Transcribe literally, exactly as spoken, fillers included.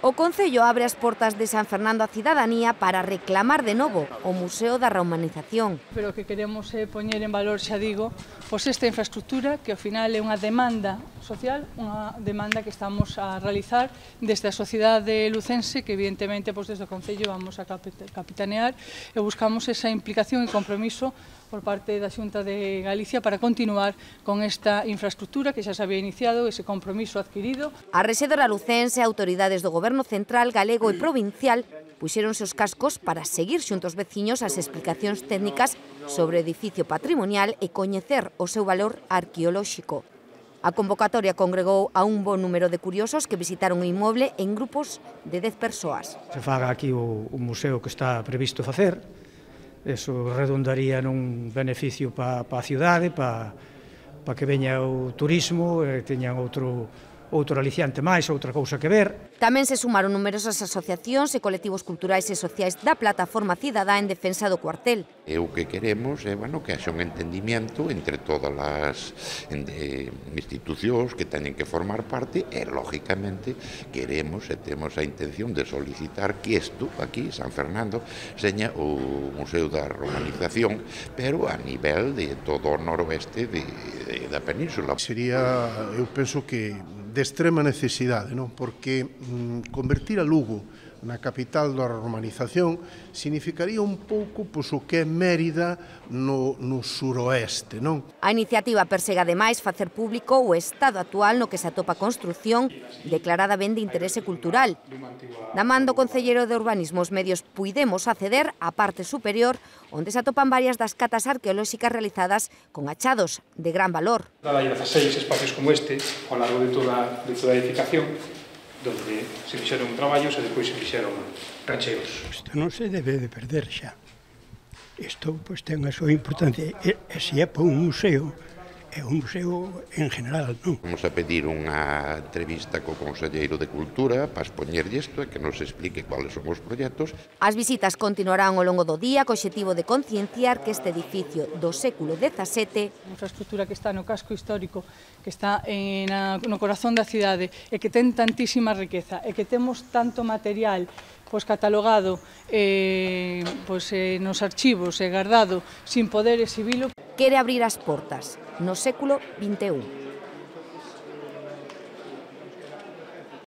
O Concello abre as portas de San Fernando á cidadanía para reclamar de novo o Museo da Romanización. Pero que queremos é poñer en valor, xa digo, pois esta infraestructura que ao final é unha demanda social, unha demanda que estamos a realizar desde a sociedade lucense, que evidentemente pois desde o Concello vamos a capitanear e buscamos esa implicación e compromiso por parte da Xunta de Galicia para continuar con esta infraestructura que xa se había iniciado, ese compromiso adquirido. A rexedora lucense, autoridades do Goberno Central, galego e provincial puxéronse os cascos para seguir xunto aos veciños as explicacións técnicas sobre o edificio patrimonial e coñecer o seu valor arqueolóxico. A convocatoria congregou a un bo número de curiosos que visitaron o inmoble en grupos de dez persoas. Se faga aquí o, o museo que está previsto facer, eso redundaría nun beneficio para pa a cidade, para pa que veña o turismo e teñan outro outro aliciante máis, outra cousa que ver. Tamén se sumaron numerosas asociacións e colectivos culturais e sociais da Plataforma Cidadá en defensa do cuartel. E o que queremos é bueno, que haxa un entendimiento entre todas as eh, institucións que teñen que formar parte e, lógicamente, queremos e temos a intención de solicitar que isto, aquí, San Fernando, seña o Museo da Romanización, pero a nivel de todo o noroeste de, de, da península. Sería, eu penso que de extrema necesidade, non? Porque mm, convertir a Lugo na capital da romanización significaría un pouco pois, o que é Mérida no, no suroeste, non? A iniciativa persegue ademais facer público o estado actual no que se atopa a construción declarada ben de interese cultural. Da man do concelleiro de Urbanismo os medios puidemos acceder á parte superior onde se atopan varias das catas arqueolóxicas realizadas con achados de gran valor. Hai dezaseis espacios como este ao largo de toda, de toda a edificación donde se fixeron traballos e depois se fixeron rancheos. Isto non se debe de perder xa. Isto pois, ten a súa importancia. E, e se é para un museo, é un museo en general, non? Vamos a pedir unha entrevista co Conselleiro de Cultura para expoñerlle isto e que nos explique cuáles son os proxectos. As visitas continuarán ao longo do día co obxectivo de concienciar que este edificio do século dezasete, unha infraestructura que está no casco histórico, que está en a, no corazón da cidade e que ten tantísima riqueza e que temos tanto material pois catalogado eh, pois, eh, nos archivos e guardado sin poder exhibilo. Quere abrir as portas no século vinte e un.